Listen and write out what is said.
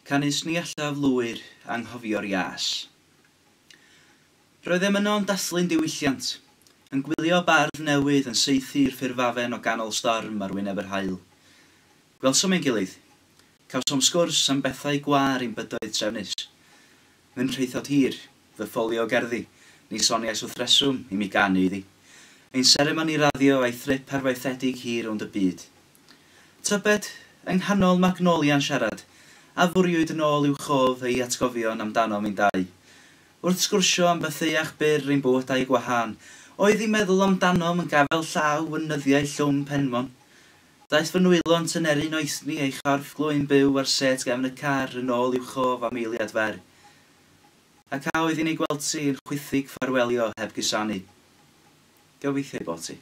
Canys ni allaf lwyr anghofio'r ias. Roeddem yno'n dathlu'n diwylliant, yn gwylio bardd newydd yn saethu'r ffurfafen o ganol storm ar wyneb yr haul. Gwelsom ein gilydd. Cawsom sgwrs am bethau gwâr ein bydoedd trefnus. Fy nhraethawd hir, fy ffolio o gerddi, ni soniais wrth reswm i mi ganu iddi. Ein seremoni raddio a'i thrip arfaethedig hir rownd y byd. Tybed, yng nghanol magnolia'n siarad, a fwriwyd yn ôl i'w chof ei atgofion amdanom ein dau. Wrth sgwrsio am fatheuach byr ein bywydau gwahân, oedd hi'n meddwl amdanom yn gafael llaw yn nyddiau llwm Penmon. Daeth fy nwylo'n tyneru noethni ei chorff glwyn byw ar sêt gefn y car yn ôl i'w chof am eiliad fer. Ac a oedd hi'n ei gweld hi yn chwithig ffarwelio heb gusanu? Gobeithio ei bod hi.